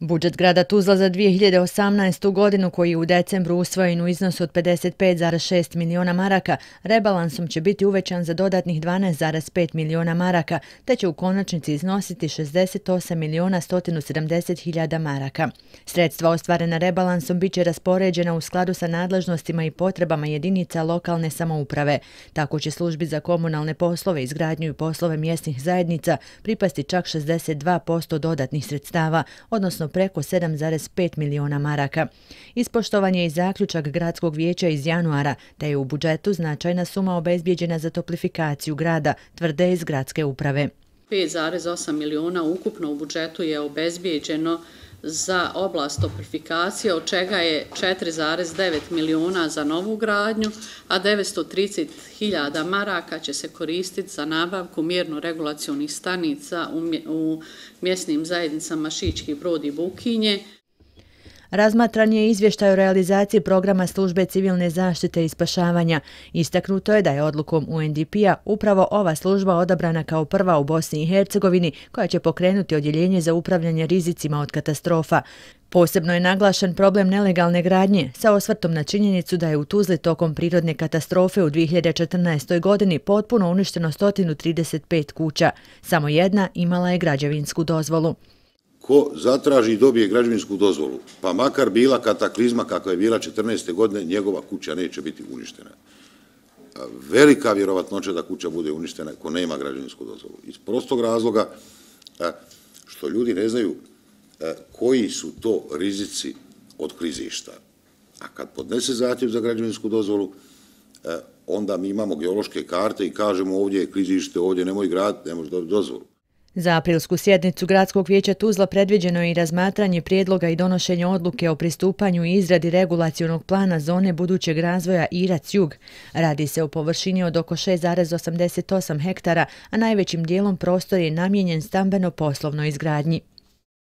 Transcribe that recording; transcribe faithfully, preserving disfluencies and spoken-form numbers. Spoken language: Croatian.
Budžet grada Tuzla za dvije hiljade osamnaestu. godinu, koji je u decembru usvojen u iznosu od pedeset pet zarez šest miliona maraka, rebalansom će biti uvećan za dodatnih dvanaest zarez pet miliona maraka, te će u konačnici iznositi šezdeset osam miliona sto sedamdeset hiljada maraka. Sredstva ostvarena rebalansom bit će raspoređena u skladu sa nadležnostima i potrebama jedinica lokalne samouprave. Tako će službi za komunalne poslove, izgradnju i poslove mjesnih zajednica pripasti čak šezdeset dva posto dodatnih sredstava, odnosno preko sedam zarez pet miliona maraka. Ispoštovan je i zaključak gradskog vijeća iz januara, te je u budžetu značajna suma obezbijeđena za toplifikaciju grada, tvrde iz gradske uprave. pet zarez osam miliona ukupno u budžetu je obezbijeđeno za oblast toplifikacije, od čega je četiri zarez devet miliona za novu gradnju, a devetsto trideset hiljada maraka će se koristiti za nabavku mjerno-regulacionih stanica u mjesnim zajednicama Šički Brod i Bukinje. Razmatran je izvještaj o realizaciji programa službe civilne zaštite i spašavanja. Istaknuto je da je odlukom U N D P-a upravo ova služba odabrana kao prva u Bosni i Hercegovini koja će pokrenuti odjeljenje za upravljanje rizicima od katastrofa. Posebno je naglašen problem nelegalne gradnje, sa osvrtom na činjenicu da je u Tuzli tokom prirodne katastrofe u dvije hiljade četrnaestoj. godini potpuno uništeno sto trideset pet kuća. Samo jedna imala je građevinsku dozvolu. Ko zatraži i dobije građevinsku dozvolu, pa makar bila kataklizma kakva je bila četrnaeste. godine, njegova kuća neće biti uništena. Velika vjerovatnoća da kuća bude uništena ko nema građevinsku dozvolu. Iz prostog razloga što ljudi ne znaju koji su to rizici od klizišta. A kad podnese zahtjev za građevinsku dozvolu, onda mi imamo geološke karte i kažemo ovdje je klizište, ovdje nemoj graditi, ne može dobiti dozvolu. Za aprilsku sjednicu Gradskog vijeća Tuzla predviđeno je i razmatranje prijedloga i donošenje odluke o pristupanju i izradi regulacionog plana zone budućeg razvoja Irac-Jug. Radi se o površini od oko šest zarez osamdeset osam hektara, a najvećim dijelom prostor je namijenjen stambeno-poslovnoj izgradnji.